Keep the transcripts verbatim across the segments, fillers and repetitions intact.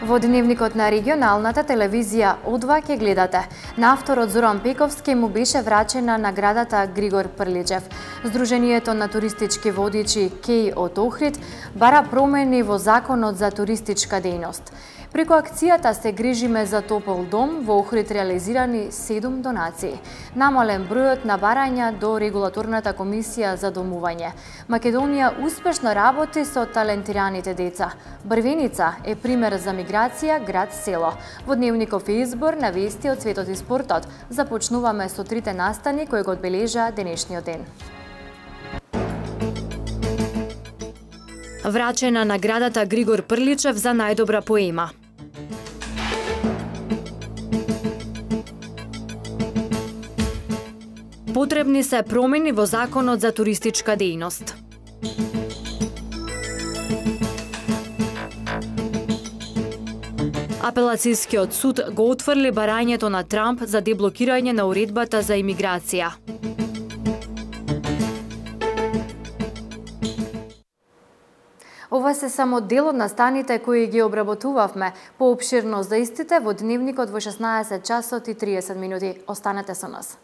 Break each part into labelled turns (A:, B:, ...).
A: Во дневникот на регионалната телевизија О два ќе гледате. На авторот Зоран Пековски му беше врачена наградата Григор Прличев. Сдруженијето на туристички водичи Кеј од Охрид бара промени во законот за туристичка дејност. Преку акцијата Се грижиме за топол дом, во Охрид реализирани седум донации. Намален бројот на барања до регулаторната комисија за домување. Македонија успешно работи со талентираните деца. Брвеница е пример за миграција град-село. Во дневников избор на вести од светот и спортот започнуваме со трите настани кои го одбележа денешниот ден. Врачена наградата Григор Прличев за најдобра поема. Потребни се промени во законот за туристичка дејност. Апелацијскиот суд го отфрли барањето на Трамп за деблокирање на уредбата за имиграција. Ова се само дел од настаните кои ги обработувавме. Поопширно за истите во дневникот во шеснаесет часот и триесет минути. Останете со нас.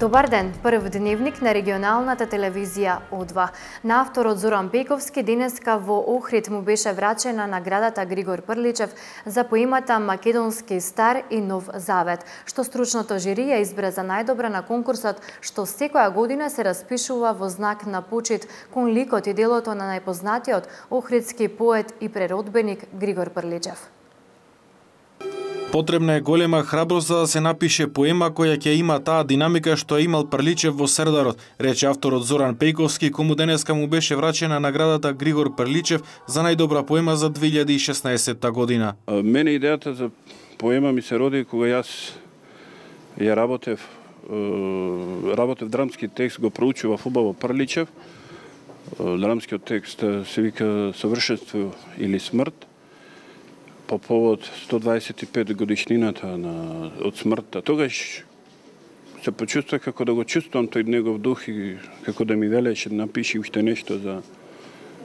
A: Добар ден, прв дневник на регионалната телевизија О два. На авторот Зоран Пековски денеска во Охрид му беше врачена наградата Григор Прличев за поемата Македонски стар и нов завет, што стручното жири ја избра за најдобра на конкурсот, што секоја година се распишува во знак на почит кон ликот и делото на најпознатиот охридски поет и преродбеник Григор Прличев.
B: Потребна е голема храброст за да се напише поема која ќе има таа динамика што е имал Прличев во Сердарот, рече авторот Зоран Пековски, кому денеска му беше врачена наградата Григор Прличев за најдобра поема за две илјади и шеснаесетта година.
C: Мене идејата за поема ми се роди кога јас ја работев, работев драмски текст, го проучував убаво Прличев. Драмскиот текст се вика Совршенство или смрт, по повод сто дваесет и пет годишнината на, од смртта. Тогаш се почувствував како да го чувствувам тој негов дух и како да ми велеше да напиши уште нешто за,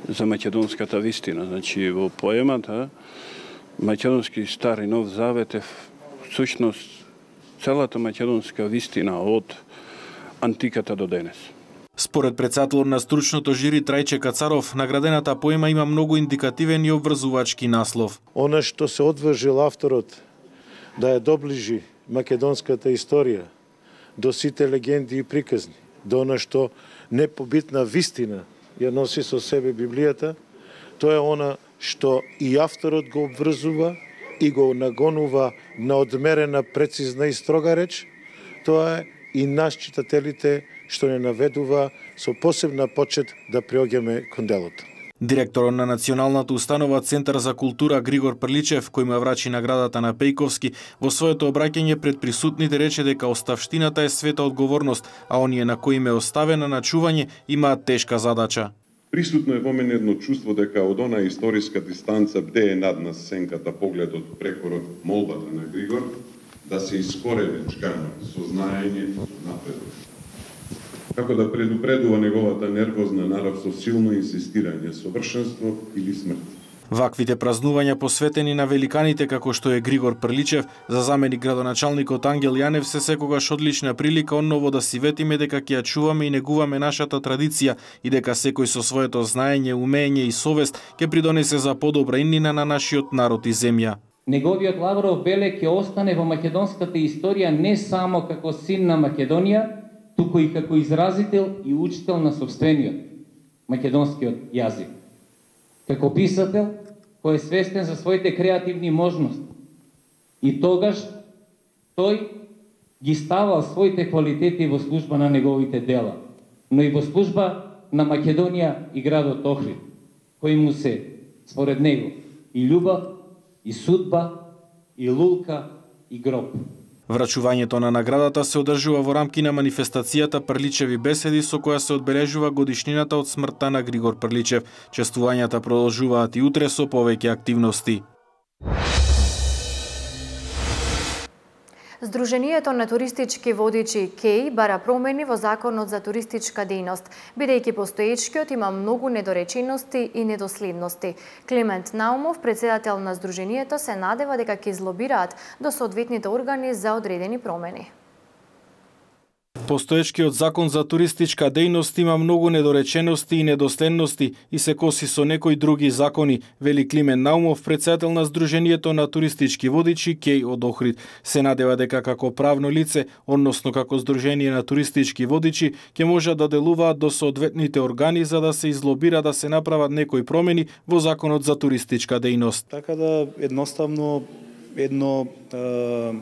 C: за македонската вистина. Значи, во поемата Македонски стар и нов завет е всушност целата македонска вистина од антиката до денес.
B: Според председателот на стручното жири Трајче Кацаров, наградената поема има многу индикативен и обврзувачки наслов.
D: Она што се одважил авторот да ја доближи македонската историја до сите легенди и приказни, до она што непобитна вистина ја носи со себе Библијата, тоа е она што и авторот го обврзува и го нагонува на одмерена, прецизна и строга реч, тоа е и нас читателите што не наведува со посебна почет да приоѓаме кон делото.
B: Директорот на Националната установа Центар за култура Григор Прличев, кој му врачи наградата на Пејковски, во своето обраќање пред присутните рече дека оставштината е света одговорност, а оние на кои им е оставена на чување имаат тешка задача.
E: Присутно е во мене едно чувство дека од она историска дистанца бдее над нас сенката погледот прекорот молбата на Григор да се искорени чкано сознаење напредок. Како да предупредува неговата нервозна нарав со силно инсистирање, совршенство или смрт.
B: Ваквите празнувања посветени на великаните како што е Григор Прличев, за заменик градоначалникот Ангел Јанев се секогаш одлична прилика онново да си ветиме дека ќе ја чуваме и негуваме нашата традиција и дека секој со своето знаење, умење и совест ќе придонесе за подобра иднина на нашиот народ и земја.
F: Неговиот Лавров белег ќе остане во македонската историја не само како син на Македонија, туку и како изразител и учител на собствениот македонскиот јазик. Како писател кој е свестен за своите креативни можности. И тогаш тој ги ставал своите квалитети во служба на неговите дела, но и во служба на Македонија и градот Охрид, кои му се, според него, и љубов, и судба, и лулка, и гроб.
B: Врачувањето на наградата се одржува во рамки на манифестацијата Прличеви беседи со која се одбележува годишнината од смртта на Григор Прличев. Чествувањата продолжуваат и утре со повеќе активности.
A: Сдруженијето на туристички водичи КЕИ бара промени во Законот за туристичка дејност, бидејќи постоечкиот има многу недоречености и недоследности. Климент Наумов, председател на Сдруженијето, се надева дека ќе излобираат до соодветните органи за одредени промени.
B: Постоечкиот закон за туристичка дејност има многу недоречености и недоследности и се коси со некои други закони, вели Климен Наумов, председател на Сдруженијето на туристички водичи КЕИ од Охрид. Се надева дека како правно лице, односно како Сдружение на туристички водичи, ќе може да делуваат до соодветните органи за да се излобира да се направат некои промени во Законот за туристичка дејност.
G: Така да едноставно едно е...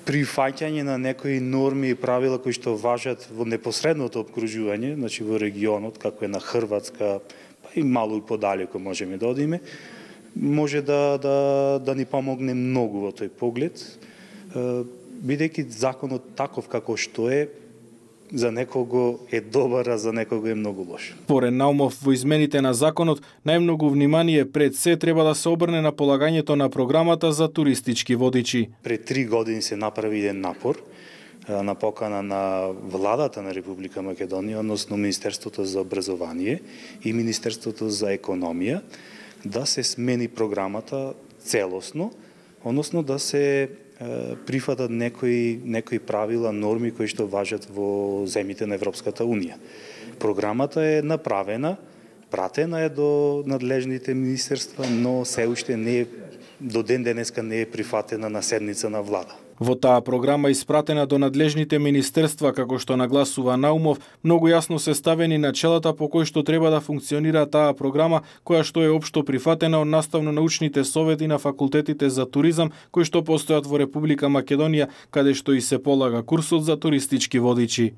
G: прифаќање на некои норми и правила кои што важат во непосредното обкружување, значи во регионот, како е на Хрватска, па и мало и подалеку можеме да одиме, може да, да, да ни помогне многу во тој поглед, бидејќи законот таков како што е, за некого е добар, а за некого е многу лош.
B: Според Наумов, во измените на законот, најмногу внимание пред се треба да се обрне на полагањето на програмата за туристички водичи.
G: Пред три години се направи еден напор на покана на владата на Република Македонија, односно Министерството за образование и Министерството за економија, да се смени програмата целосно, односно да се прифатат некои, некои правила, норми кои што важат во земјите на Европската Унија. Програмата е направена, пратена е до надлежните министерства, но се уште не е, до ден денеска не е прифатена на седница на влада.
B: Во таа програма испратена до надлежните министерства, како што нагласува Наумов, многу јасно се ставени начелата по кои што треба да функционира таа програма, која што е општо прифатена од наставно-научните совети на факултетите за туризам, кои што постојат во Република Македонија, каде што и се полага курсот за туристички водичи.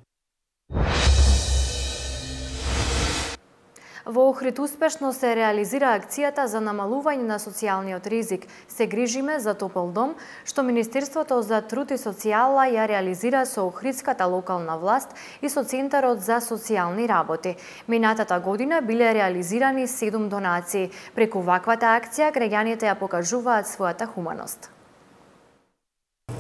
A: Во Охрид успешно се реализира акцијата за намалување на социјалниот ризик. Се грижиме за топол дом, што Министерството за труд и социјала ја реализира со Охридската локална власт и со Центарот за социјални работи. Минатата година биле реализирани седум донации. Преку ваквата акција граѓаните ја покажуваат својата хуманост.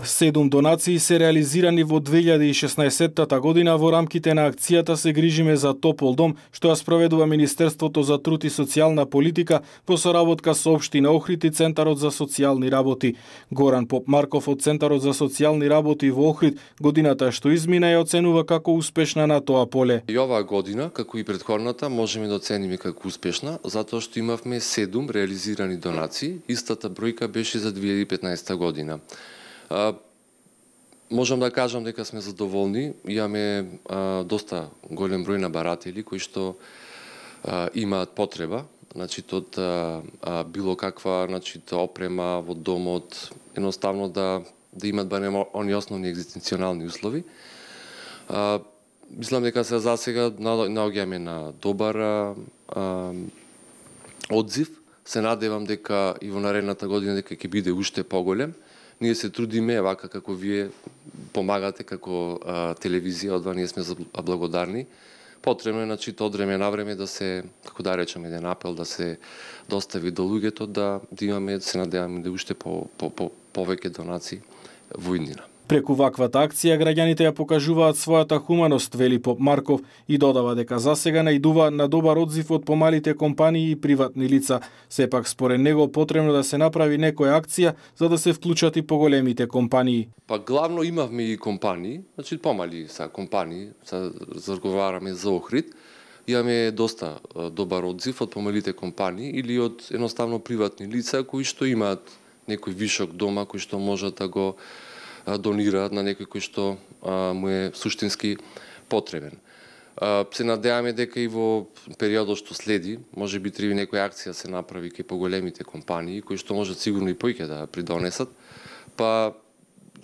B: Седум донации се реализирани во две илјади и шеснаесеттата година во рамките на акцијата Се грижиме за топол дом, што ја спроведува Министерството за труд и социјална политика во соработка со Општина Охрид и Центарот за социјални работи. Горан Попмарков од Центарот за социјални работи во Охрид годината што измина ја оценува како успешна на тоа поле.
H: И оваа година, како и претходната, можеме да оцениме како успешна, затоа што имавме седум реализирани донации, истата бројка беше за две илјади и петнаесетта година. А, можам да кажам дека сме задоволни, имаме а, доста голем број на баратели кои што а, имаат потреба, значи од а, а, било каква, значи опрема во домот, едноставно да да имат барем они основни екзистенционални услови. А, мислам дека се засега наоѓаме на добар а, а, одзив. Се надевам дека и во наредната година дека ќе биде уште поголем. Ние се трудиме, вака како вие помагате како а, телевизија, одва ние сме благодарни. Потребно е, значи, од време на време да се, како да речеме, еден апел да се достави до луѓето, да, да имаме, се надеваме да уште по, по, по, повеќе донации во иднина.
B: Преку ваквата акција граѓаните ја покажуваат својата хуманост, вели Попмарков, и додава дека засега најдува на добар одзив од помалите компании и приватни лица. Сепак според него потребно да се направи некоја акција за да се вклучат и поголемите компании.
H: Па главно имавме и компании, значи помали са компании, са разговараме за Охрид. Имаме доста добар одзив од помалите компании или од едноставно приватни лица кои што имаат некој вишок дома кој што можат да го донираат на некој кој што а, му е суштински потребен. А, се надеваме дека и во периодот што следи, може би треба некоја акција се направи кај поголемите компании, кои што можат сигурно и поиќе да придонесат, па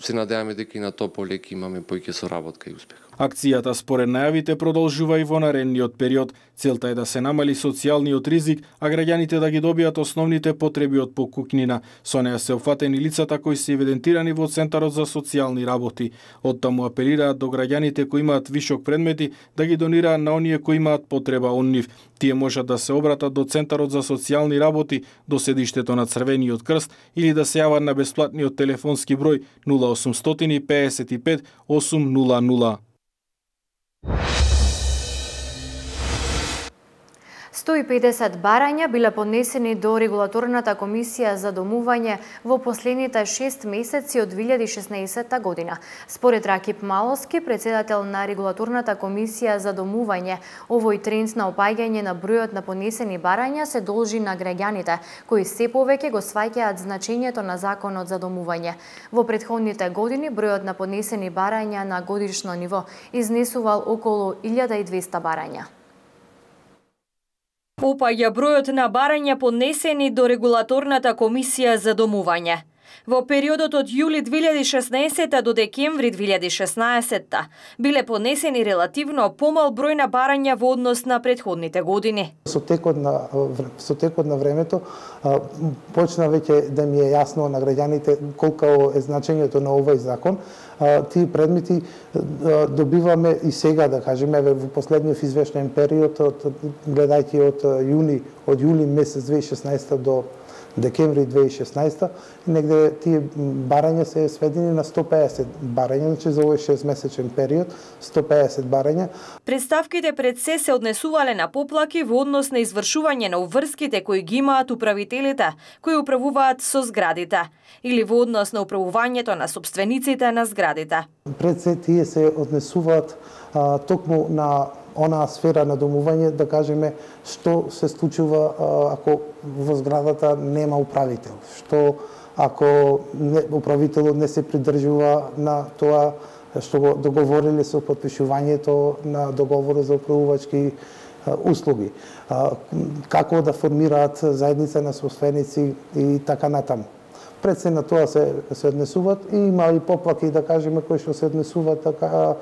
H: се надеваме дека и на тоа поле ќе имаме поиќе соработка и успех.
B: Акцијата според најавите продолжува и во наредниот период. Целта е да се намали социјалниот ризик, а граѓаните да ги добијат основните потреби од покукнина. Со неа се опфатени лицата кои се евидентирани во Центарот за социјални работи. Оттаму апелираат до граѓаните кои имаат вишок предмети да ги донираат на оние кои имаат потреба од нив. Тие можат да се обратат до Центарот за социјални работи, до седиштето на Црвениот крст или да се јават на бесплатниот телефонски број нула осумстотини пеесет и пет осум нула нула.
A: сто и педесет барања биле поднесени до Регулаторната комисија за домување во последните шест месеци од две илјади и шеснаесетта година. Според Ракип Малоски, председател на Регулаторната комисија за домување, овој тренд на опаѓање на бројот на поднесени барања се должи на граѓаните, кои се повеќе го сваќаат значењето на Законот за домување. Во претходните години бројот на поднесени барања на годишно ниво изнесувал околу илјада и двесте барања.
I: Опаѓа бројот на барања поднесени до Регулаторната комисија за домување. Во периодот од јули две илјади и шеснаесетта до декември две илјади и шеснаесетта биле поднесени релативно помал број на барања во однос на претходните години.
J: Со текот на со текот на времето почна веќе да ми е јасно на граѓаните колку е значењето на овој закон. Тие предмети добиваме и сега, да кажеме, во последниот извештаен период, од, гледајќи од јуни, од јули месец две илјади и шеснаесетта до декември две илјади и шеснаесетта, негде тие барања се сведени на сто и педесет барања, значи за овој шестмесечен период, сто и педесет барања.
I: Представките пред се се однесувале на поплаки во однос на извршување на уврските кои ги имаат управителите, кои управуваат со зградите, или во однос на управувањето на собствениците на зградите.
J: Пред се тие се однесуваат а, токму на онаа сфера на домување, да кажеме, што се случува а, ако во зградата нема управител, што ако не, управителот не се придржува на тоа што го договориле со потпишувањето на договорот за управувачки а, услуги, а, како да формираат заедница на собственици и така натаму. Пред се на тоа се, се однесуваат и има и поплаки, да кажеме, кои што се однесуваат така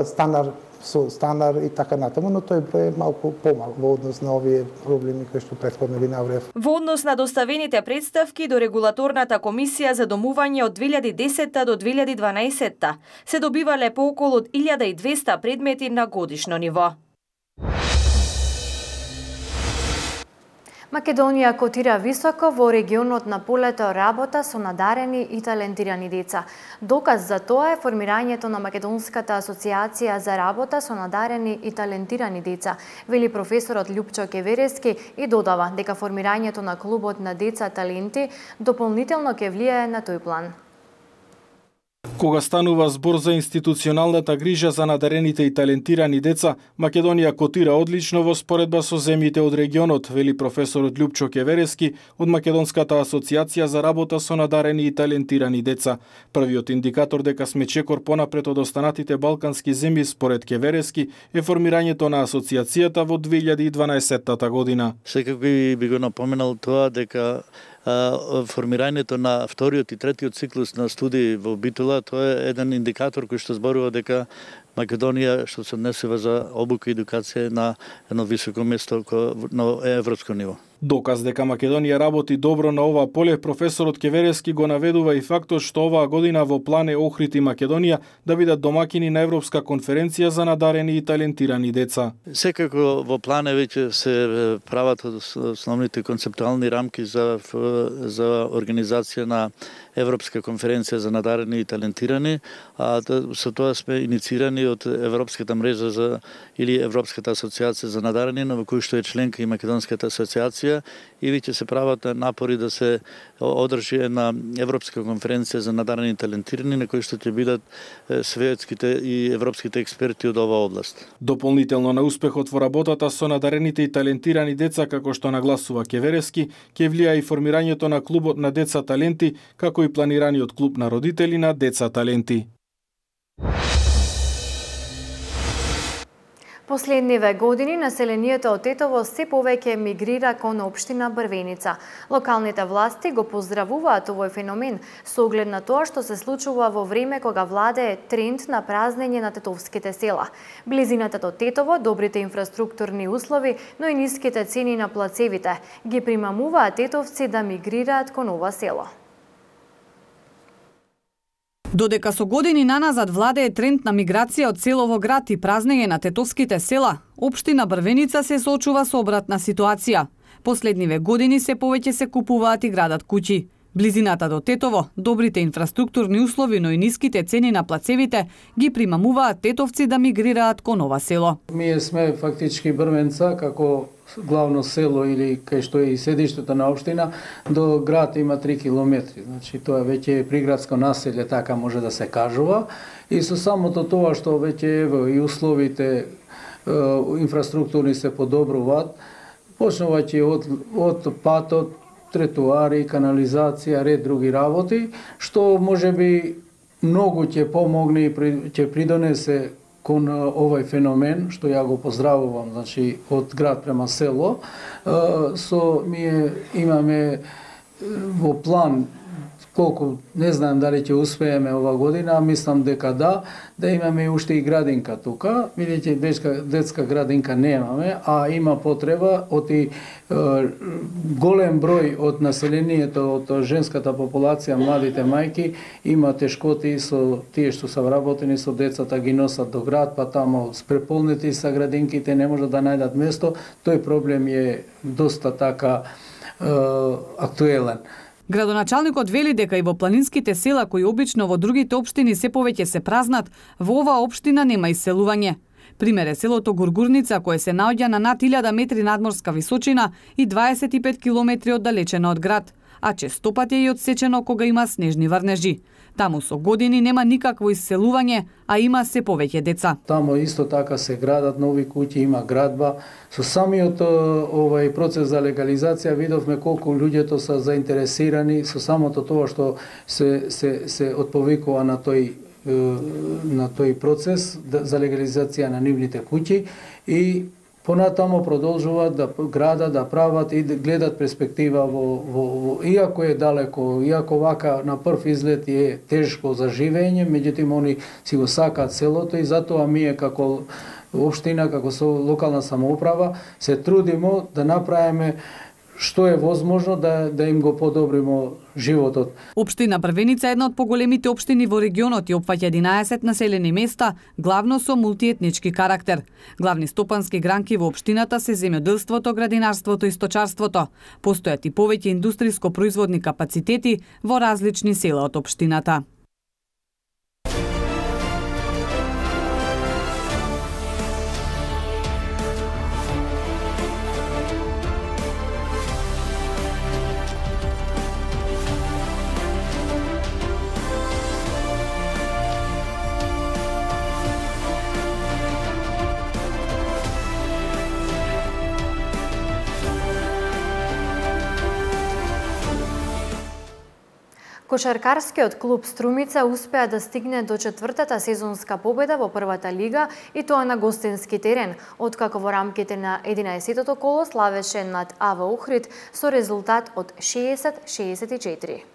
J: станар со станар и така натаму, но тој број е малку помал во однос на овие проблеми кои што претходно ви наврев.
I: Во однос на доставените представки до Регулаторната комисија за домување од две илјади и десетта до две илјади и дванаесетта се добивале по околу илјада и двесте предмети на годишно ниво.
A: Македонија котира високо во регионот на полето работа со надарени и талентирани деца. Доказ за тоа е формирањето на Македонската асоциација за работа со надарени и талентирани деца, вели професорот Љупчо Кеверески и додава дека формирањето на клубот на деца таленти дополнително ќе влијае на тој план.
B: Кога станува збор за институционалната грижа за надарените и талентирани деца, Македонија котира одлично во споредба со земјите од регионот, вели професорот Љупчо Кеверески од Македонската асоциација за работа со надарени и талентирани деца. Првиот индикатор дека сме чекор понапред од останатите балкански земји според Кеверески е формирањето на асоциацијата во две илјади и дванаесетта година.
K: Секако би го напоменал тоа дека формирањето на вториот и третиот циклус на студии во Битола, тоа е еден индикатор кој што зборува дека Македонија што се однесува за обука и едукација на едно високо место на европско ниво.
B: Доказ дека Македонија работи добро на ова поле, професорот Кеверески го наведува и фактот што оваа година во план е Охрид и Македонија да бидат домакини на Европска конференција за надарени и талентирани деца.
K: Секако во план е веќе се прават основните концептуални рамки за за организација на Европска конференција за надарени и талентирани, а со тоа сме инициирани од Европската мрежа за или Европската асоциација за надарени, во кој што е членка и Македонската асоциација, и веќе се прават напори да се одржи една Европска конференција за надарени и талентирани, на кој што ќе бидат светските и европските експерти од оваа област.
B: Дополнително на успехот во работата со надарените и талентирани деца, како што нагласува Кеверески, ќе влијае и формирањето на клубот на деца таленти, како и планираниот клуб на родители на деца таленти.
A: Последниве години населението од Тетово се повеќе мигрира кон општина Брвеница. Локалните власти го поздравуваат овој феномен со оглед на тоа што се случува во време кога владее тренд на празнење на тетовските села. Близината до Тетово, добрите инфраструктурни услови, но и ниските цени на плацевите ги примамуваат тетовци да мигрираат кон ова село.
L: Додека со години наназад владее тренд на миграција од село во град и празнење на тетовските села, општина Брвеница се соочува со обратна ситуација. Последниве години се повеќе се купуваат и градат куќи. Близината до Тетово, добрите инфраструктурни услови, но и ниските цени на плацевите ги примамуваат тетовци да мигрираат кон ова село.
M: Ние сме фактички Брвеница како главно село или кај што е и седиштето на општина, до град има три километри. Значи тоа веќе е приградско населје, така може да се кажува. И со самото тоа што веќе ево и условите инфраструктурни се подобруваат, почнувајќи од од патот, тротоари, канализација, ред други работи, што можеби многу ќе помогне и ќе придонесе кон овој феномен, што ја го поздравувам, значи од град према село. Со ние имаме во план колку, не знам дали ќе успееме ова година, мислам дека да, да имаме уште и градинка тука. Видите, детска, детска градинка немаме, а има потреба од и е, голем број од населението, од женската популација, младите мајки, има тешкоти со тие што се вработени со децата, ги носат до град, па тамо преполнети са градинките, не можат да најдат место. Тој проблем е доста така е, актуелен.
L: Градоначалникот вели дека и во планинските села кои обично во другите општини се повеќе се празнат, во оваа општина нема иселување. Пример е селото Гургурница, кое се наоѓа на над илјада метри надморска височина и дваесет и пет километри оддалечено од град, а често пати е и одсечено кога има снежни врнежи. Таму со години нема никакво иселување, а има се повеќе деца.
M: Тамо исто така се градат нови куќи, има градба. Со самиот овој процес за легализација видовме колку луѓето се заинтересирани со самото тоа што се се се отповикува на тој на тој процес за легализација на нивните куќи и понатамо продолжуваат да градат, да прават и да гледат перспектива во, во, во иако е далеко, иако вака на прв изглед е тешко за живење, меѓутоа они си го сакаат селото и затоа ние како општина, како со локална самоуправа се трудимо да направиме што е возможно да да им го подобримо животот.
L: Општина Брвеница е една од поголемите општини во регионот и опфаќа единаесет населени места, главно со мултиетнички карактер. Главни стопански гранки во општината се земјоделството, градинарството и сточарството. Постојат и повеќе индустријско-производни капацитети во различни села од општината.
A: Кошаркарскиот клуб Струмица успеа да стигне до четвртата сезонска победа во првата лига и тоа на гостински терен, откако во рамките на единаесеттото коло славеше над АВ Охрид со резултат од шеесет шеесет и четири.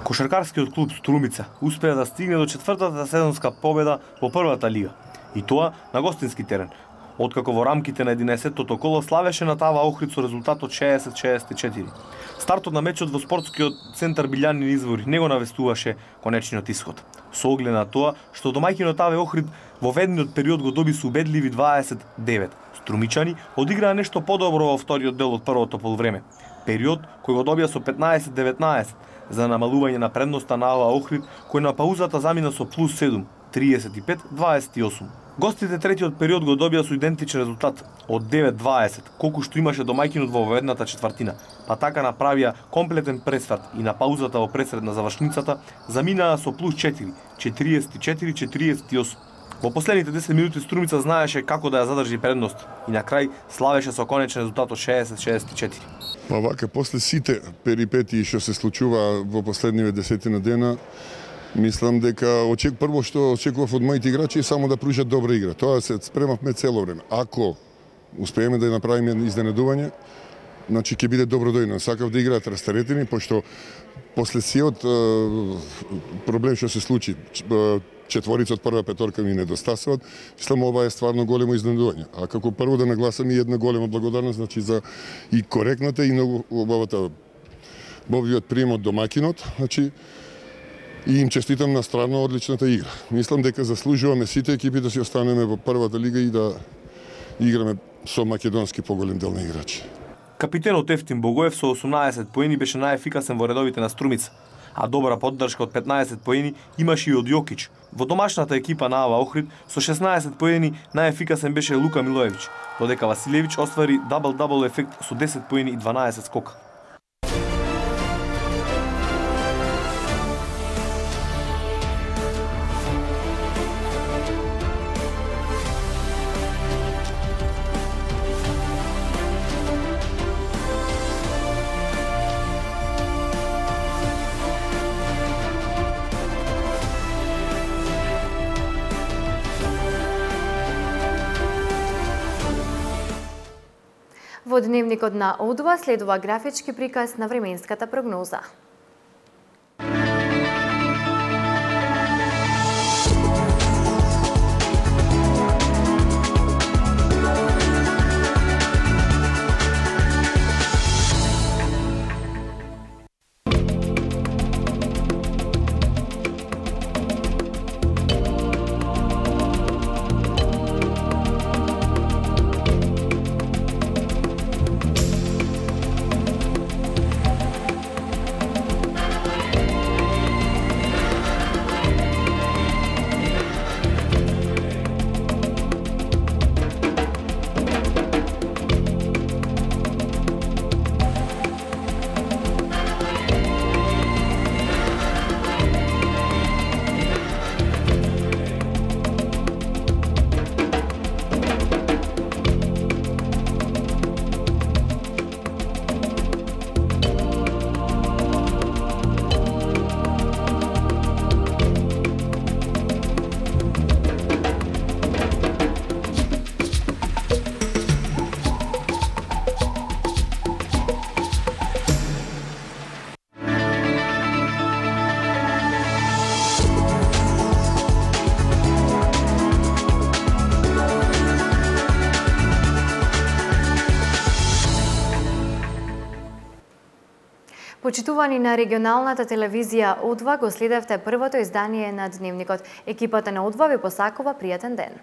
N: Кошаркарскиот клуб Струмица успеа да стигне до четвртата сезонска победа во првата лига и тоа на гостински терен, откако во рамките на единаесеттото коло славеше над АВ Охрид со резултат од шеесет шеесет и четири. Стартот на мечот во спортскиот центар Билјанин извори не го навестуваше конечниот исход. Со оглед на тоа што домаќинот АВ Охрид во ведниот период го доби со убедливи дваесет девет. Струмичани одиграа нешто подобро во вториот дел од првото полувреме. Период кој го добија со петнаесет деветнаесет за намалување на предноста на АВ Охрид, кој на паузата замина со плюс седум, триесет и пет дваесет и осум. Гостите третиот период го добија со идентичен резултат од девет дваесет, колку што имаше домаќинот во ведната четвртина, па така направија комплетен пресврат и на паузата во пресред на завршницата заминаа со плюс четири, четириесет и четири четириесет и осум. Во последните десет минути Струмица знаеше како да ја задржи предност и на крај славеше со конечен резултат од шеесет шеесет и четири.
O: Па вака, после сите перипетии што се случува во последниве десетина дена, Мислам дека очек прво што очекував од моите играчи е само да пружат добра игра. Тоа се спремавме цело време. Ако успееме да ја направиме изненадување, значи ќе биде добродојно. Сакав да играат растаретени, пошто после сиот проблем што се случи, четворица од прва петорка ми недостасуваат, мислам ова е стварно големо изненадување. А како прво да нагласам и една голема благодарност, значи за и коректната и многу убавата бобиот прием од домакинот, значи и им честитам на страна одличната игра. Мислам дека заслужуваме сите екипи да си останеме во првата лига и да играме со македонски поголем дел на играчи.
N: Капитенот Ефтим Богоев со осумнаесет поени беше најефикасен во редовите на Струмица, а добра поддршка од петнаесет поени имаше и од Јокич. Во домашната екипа на Ава Охрид со шеснаесет поени најефикасен беше Лука Милоевиќ, додека Василевиќ оствари дабл-дабл ефект со десет поени и дванаесет скока.
A: Во дневникот на О два следува графички приказ на временската прогноза. Почитувани на регионалната телевизија О два, го следевте првото издание на Дневникот. Екипата на О два ви посакува пријатен ден.